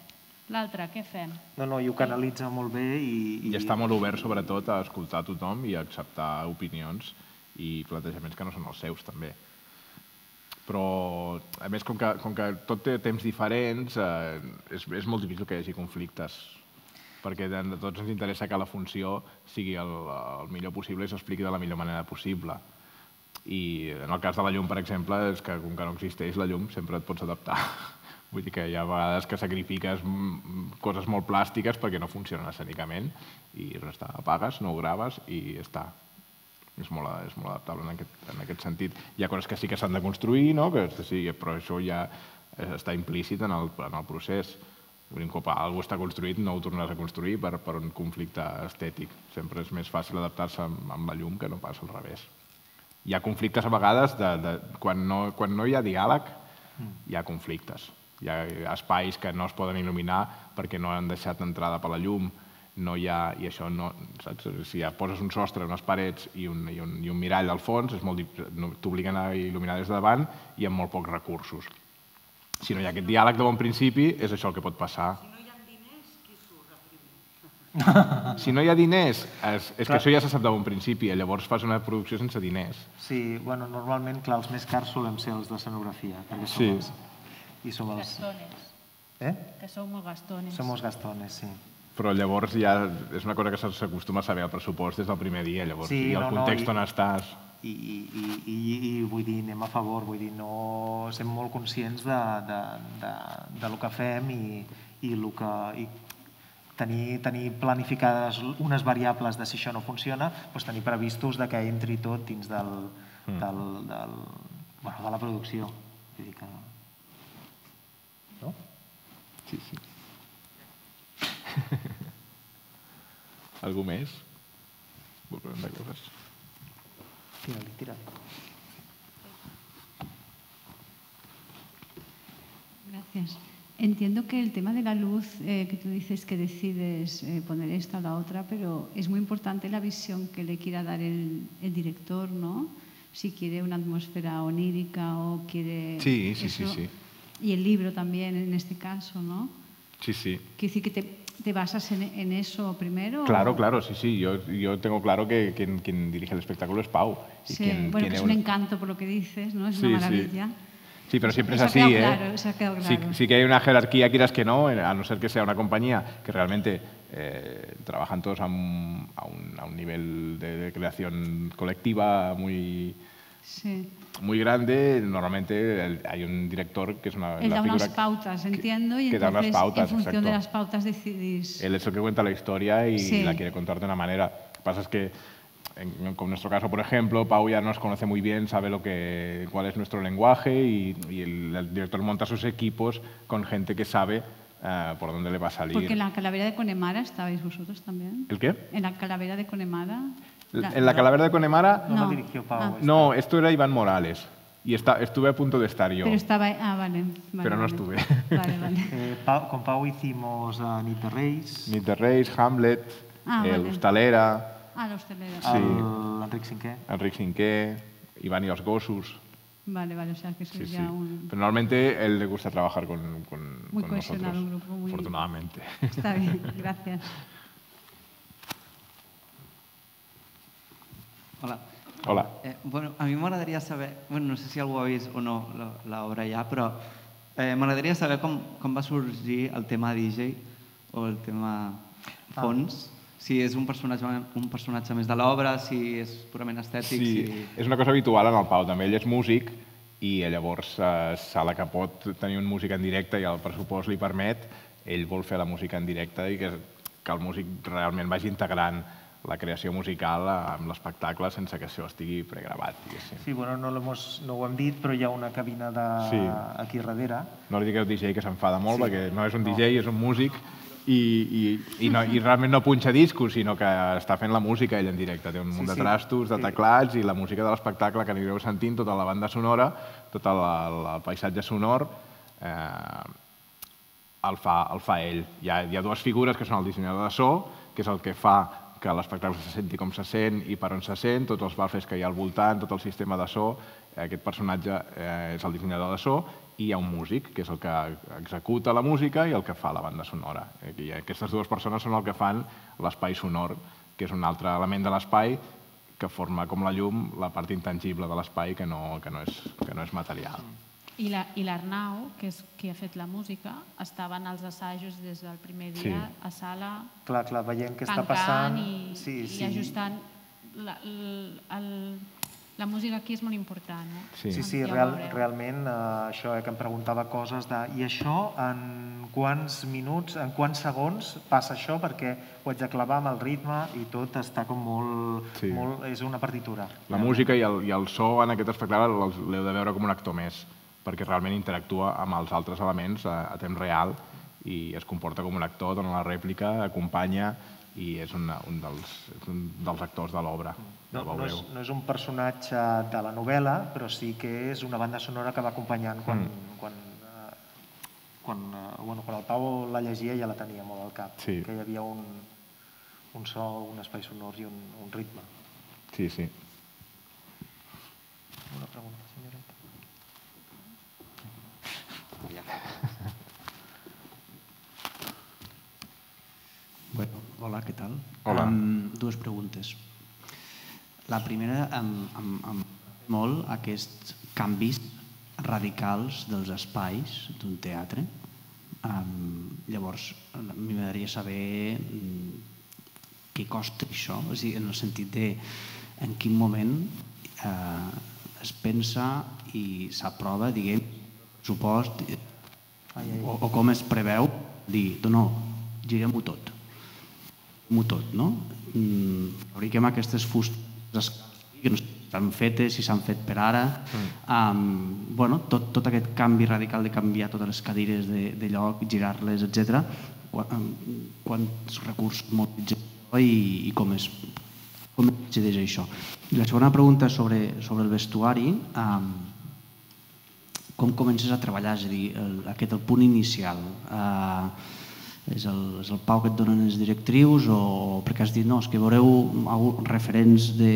L'altre, què fem? No, no, i ho canalitza molt bé i... I està molt obert, sobretot, a escoltar tothom i a acceptar opinions i plantejaments que no són els seus, també. Però, a més, com que tot té temps diferents, és molt difícil que hi hagi conflictes, perquè a tots ens interessa que la funció sigui el millor possible i s'expliqui de la millor manera possible. I en el cas de la llum, per exemple, és que com que no existeix la llum, sempre et pots adaptar. Vull dir que hi ha vegades que sacrifiques coses molt plàstiques perquè no funcionen escènicament i res està, apagues, no ho graves i ja està. És molt adaptable en aquest sentit. Hi ha coses que sí que s'han de construir, però això ja està implícit en el procés. Un cop alguna cosa està construït no ho tornaràs a construir per un conflicte estètic. Sempre és més fàcil adaptar-se amb la llum que no pas al revés. Hi ha conflictes a vegades, quan no hi ha diàleg, hi ha conflictes. Hi ha espais que no es poden il·luminar perquè no han deixat entrada per la llum, no hi ha, i això no, saps? Si poses un sostre, unes parets i un mirall al fons, t'obliguen a il·luminar des de davant i amb molt pocs recursos. Si no hi ha aquest diàleg de bon principi, és això el que pot passar. Si no hi ha diners, és que això ja se sap de bon principi, llavors fas una producció sense diners. Sí, bueno, normalment, clar, els més cars solem ser els d'escenografia, perquè som els... Gastones. Eh? Que som molt gastones. Som els gastones, sí. Però llavors ja és una cosa que s'acostuma a saber el pressupost des del primer dia, llavors, i el context on estàs. I vull dir, anem a favor, vull dir, no... Som molt conscients del que fem i el que... tenir planificades unes variables de si això no funciona, doncs tenir previstos que entri tot dins de la producció. Vull dir que... No? Sí, sí. Algú més? Vull preguntar coses. Tira-li, tira-li. Gracias. Entiendo que el tema de la luz, eh, que tú dices que decides eh, poner esta o la otra, pero es muy importante la visión que le quiera dar el, el director, ¿no? Si quiere una atmósfera onírica o quiere... Sí, sí, eso. sí, sí. Y el libro también en este caso, ¿no? Sí, sí. Quiere decir que te, te basas en, en eso primero? Claro, o... claro, sí, sí. Yo, yo tengo claro que quien, quien dirige el espectáculo es Pau. Y Sí, quien, bueno, quien que es eu- un encanto por lo que dices, ¿no? Es Sí, una sí. maravilla. Sí, pero siempre es Eso ha así, quedado ¿eh? claro, eso ha quedado Sí, claro. sí que hay una jerarquía, quieras que no, a no ser que sea una compañía que realmente eh, trabajan todos a un, a un, a un nivel de, de creación colectiva muy, Sí. muy grande. Normalmente el- hay un director que es una Él la da unas figura pautas, entiendo, y que da unas entonces pautas, en función de exacto. las pautas decidís... Él es el que cuenta la historia y Sí. la quiere contar de una manera. Lo que pasa es que, en, con nuestro caso, por ejemplo, Pau ya nos conoce muy bien, sabe lo que, cuál es nuestro lenguaje y, y el, el director monta sus equipos con gente que sabe eh, por dónde le va a salir. Porque en la calavera de Connemara estabais vosotros también. ¿El qué? En la calavera de Connemara... En la calavera de Connemara, No, No. la dirigió Pau. Ah. esta. no, esto era Iván Morales y está, estuve a punto de estar yo, Pero estaba... Ah, vale. vale pero no vale. estuve. Vale, vale. Eh, Pau- con Pau hicimos a Nit de Reis, Nit de Reis, Hamlet, Ah, el vale. Hostalera, Ah, la hostelera. Sí. l'Enric Cinquè. Enric Cinquè, Iván y los Gossos. Vale, vale, o sea que sois Sí, sí. ya un... Pero normalmente él le gusta trabajar con, con, Muy con cohesionado, nosotros, un grupo muy- afortunadamente. Está bien, gracias. Hola. Hola. Eh, bueno, a mi m'agradaria saber, bueno, no sé si algú ha vist o no la- l'obra ja, però eh, m'agradaria saber com, com va sorgir el tema D J o el tema fons. Si és un personatge, un personatge més de l'obra, si és purament estètic, Sí, si... és una cosa habitual en el Pau, també ell és músic i llavors eh, a la que pot tenir un músic en directe i el pressupost li permet, ell vol fer la música en directe i que, que el músic realment vagi integrant la creació musical amb l'espectacle sense que això estigui pregravat, diguéssim. Sí, bueno, no, hemos, no ho hem dit, però hi ha una cabina de... Sí. aquí darrere. No li digueu D J que s'enfada molt, Sí. perquè no és un No. D J, és un músic i, i, i, no, i realment no punxa discos, sinó que està fent la música ell en directe. Té un munt Sí, de sí. trastos, de Sí. teclats i la música de l'espectacle que anireu sentint, tota la banda sonora, tot el, el, el paisatge sonor, eh, el, fa, el fa ell. Hi ha, hi ha dues figures que són el dissenyador de so, que és el que fa que l'espectacle se senti com se sent i per on se sent, tots els buffers que hi ha al voltant, tot el sistema de so. Aquest personatge eh, és el dissenyador de so i hi ha un músic, que és el que executa la música i el que fa la banda sonora. I aquestes dues persones són el que fan l'espai sonor, que és un altre element de l'espai que forma com la llum la part intangible de l'espai que, no, que, no és, que no és material. I la- i l'Arnau, que és qui ha fet la música, estaven als assajos des del primer dia Sí. a sala, Clar, clar, veient què està tancant passant... i, sí, i sí. ajustant. La, el, el, la música aquí és molt important. Eh? Sí. Sí, sí, Ja ho real, veureu. realment, eh, això, eh, que em preguntava coses de... I això, en quants minuts, en quants segons passa això? Perquè ho haig de clavar amb el ritme i tot està com molt... Sí. molt és una partitura. La música i el, i el so en aquest espectacle els- l'heu de veure com un actor més, perquè realment interactua amb els altres elements a, a temps real i es comporta com un actor, dona la rèplica, acompanya i és una, un, dels, és un dels actors de l'obra. No, el no, veureu. és, no és un personatge de la novel·la, però sí que és una banda sonora que va acompanyant quan, Mm. quan, eh, quan, eh, bueno, quan el Pau la llegia ja la tenia molt al cap, Sí. que hi havia un, un so, un espai sonor i un, un ritme. Sí, sí. Una pregunta, senyoreta? Bueno, hola, què tal? Hola. Um, dues preguntes. La primera, em, em, em molt aquests canvis radicals dels espais d'un teatre. Um, llavors, a mi m'agradaria saber um, què costa això, és a dir, en el sentit de en quin moment eh, es pensa i s'aprova, diguem, pressupost, eh, o, o com es preveu dir, no, girem-ho tot. Girem-ho tot, no? Mm, fabriquem aquestes fustes que no estan fetes, si s'han fet per ara. Mm. Um, bueno, tot, tot aquest canvi radical de canviar totes les cadires de, de lloc, girar-les, etcètera. Quan, quants recursos mobilitzem i, i com es com es decideix això. I la segona pregunta sobre, sobre el vestuari, um, com comences a treballar? És a dir, el, aquest el punt inicial. Uh, és, el, és el Pau que et donen les directrius o perquè has dit, no, és que veureu alguns referents de,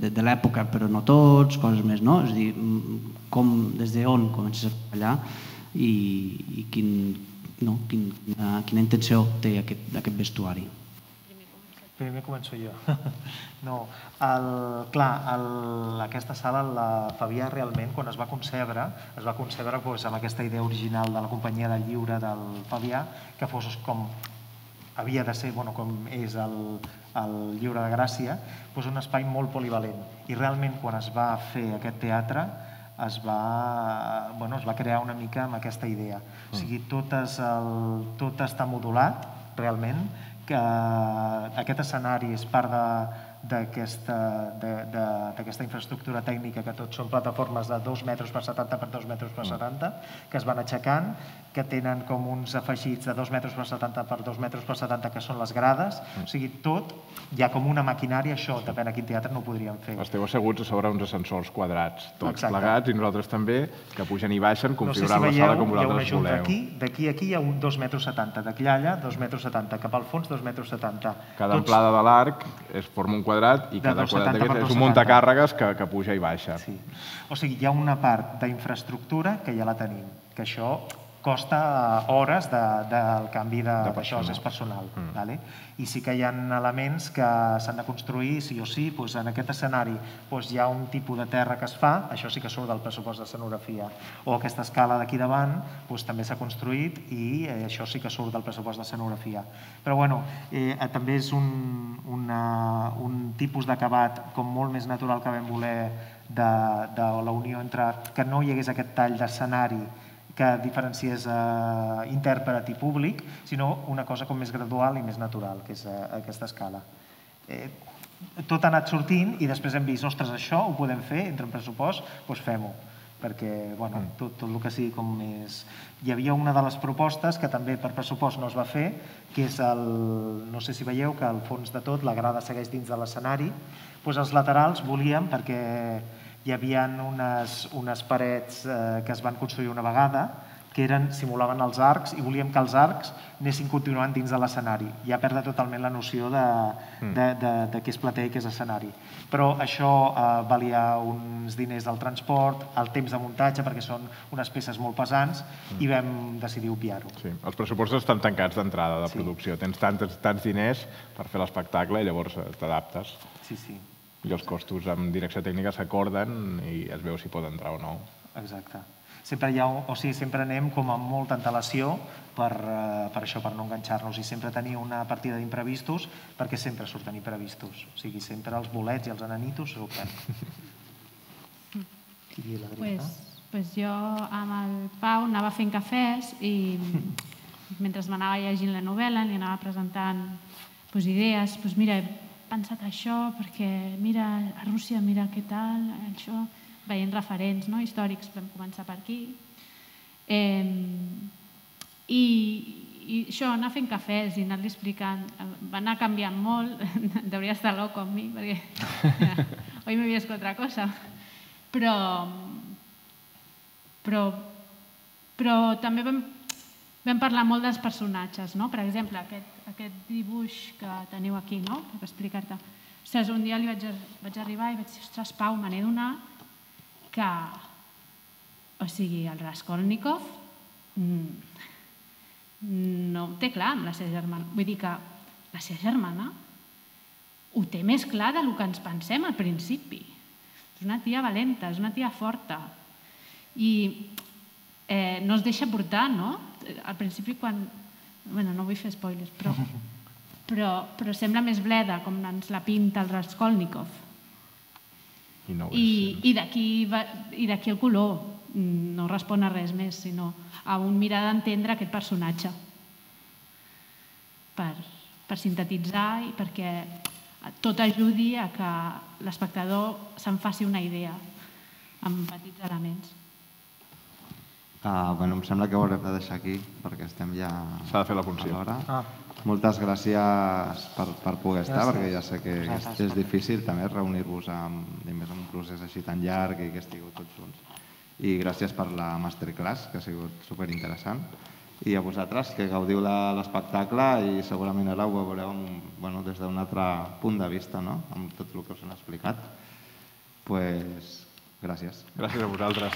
de, de l'època, però no tots, coses més, no? És a dir, com, des d'on comences a treballar i, i quin, quina intenció té aquest vestuari? Primer començo jo. No, clar, aquesta sala, la Fabià, realment, quan es va concebre, es va concebre amb aquesta idea original de la companyia del lliure del Fabià, que fos com havia de ser, com és el Lliure de Gràcia, un espai molt polivalent. I realment, quan es va fer aquest teatre, es va crear una mica amb aquesta idea. O sigui, tot està modulat, realment, que aquest escenari és part d'aquesta infraestructura tècnica, que tot són plataformes de dos metres per setanta per dos metres per setanta, que es van aixecant, que tenen com uns afegits de dos metres per setanta per dos metres per setanta, que són les grades. O sigui, tot, hi ha com una maquinària, això, depèn a quin teatre no ho podríem fer. Esteu asseguts a sobre uns ascensors quadrats, tots plegats, i nosaltres també, que pugen i baixen, configurant la sala com vosaltres voleu. D'aquí a aquí hi ha un dos metres setanta, d'aquí allà dos metres setanta, cap al fons dos metres setanta. Cada amplada de l'arc es forma un quadrat i cada quadrat d'aquest és un muntacàrregues que puja i baixa. O sigui, hi ha una part d'infraestructura que ja la tenim, que això costa hores del canvi d'això, és personal. I sí que hi ha elements que s'han de construir sí o sí. En aquest escenari hi ha un tipus de terra que es fa, això sí que surt del pressupost d'escenografia, o aquesta escala d'aquí davant també s'ha construït i això sí que surt del pressupost d'escenografia. Però bueno, també és un tipus d'acabat com molt més natural que vam voler de la unió entre que no hi hagués aquest tall d'escenari que diferenciés intèrpret i públic, sinó una cosa com més gradual i més natural, que és aquesta escala. Tot ha anat sortint i després hem vist, ostres, això ho podem fer, entra en pressupost, doncs fem-ho, perquè tot el que sigui com més... Hi havia una de les propostes que també per pressupost no es va fer, que és el... no sé si veieu que al fons de tot la grada segueix dins de l'escenari, doncs els laterals volíem, perquè hi havia unes parets que es van construir una vegada que simulaven els arcs i volíem que els arcs anessin continuant dins de l'escenari. Ja perda totalment la noció de què és platea i què és escenari. Però això valia uns diners del transport, el temps de muntatge, perquè són unes peces molt pesants, i vam decidir obviar-ho. Sí, els pressupostos estan tancats d'entrada de producció. Tens tants diners per fer l'espectacle i llavors t'adaptes. Sí, sí. I els costos amb direcció tècnica s'acorden i es veu si pot entrar o no. Exacte. Sempre anem com amb molta antelació per això, per no enganxar-nos, i sempre tenir una partida d'imprevistos, perquè sempre surten imprevistos. O sigui, sempre els bolets i els enanitos surten. Doncs jo amb el Pau anava fent cafès i mentre m'anava llegint la novel·la li anava presentant idees, doncs mira, he pensat això perquè mira a Rússia, mira què tal, això, veient referents històrics, vam començar per aquí. I això, anar fent cafès i anar-li explicant, va anar canviant molt, deuria estar loco amb mi, perquè hoy me vies otra cosa, però però també vam parlar molt dels personatges, per exemple, aquest dibuix que teniu aquí, per explicar-te. Ostres, un dia li vaig arribar i vaig dir, ostres, Pau, me n'he donat que, o sigui, el Raskolnikov no ho té clar amb la seva germana. Vull dir que la seva germana ho té més clar del que ens pensem al principi. És una tia valenta, és una tia forta. I no es deixa portar, no? Al principi quan... Bé, no vull fer spoilers, però sembla més bleda, com ens la pinta el Raskolnikov. I d'aquí el color. No respon a res més, sinó a un mirar d'entendre aquest personatge per sintetitzar i perquè tot ajudi a que l'espectador se'n faci una idea amb petits elements. Em sembla que ho haurem de deixar aquí perquè estem ja a l'hora. S'ha de fer la funció. Moltes gràcies per poder estar, perquè ja sé que és difícil també reunir-vos en un procés així tan llarg i que estigueu tots junts. I gràcies per la masterclass, que ha sigut superinteressant. I a vosaltres, que gaudiu de l'espectacle i segurament ara ho veureu des d'un altre punt de vista, amb tot el que us han explicat. Doncs gràcies. Gràcies a vosaltres.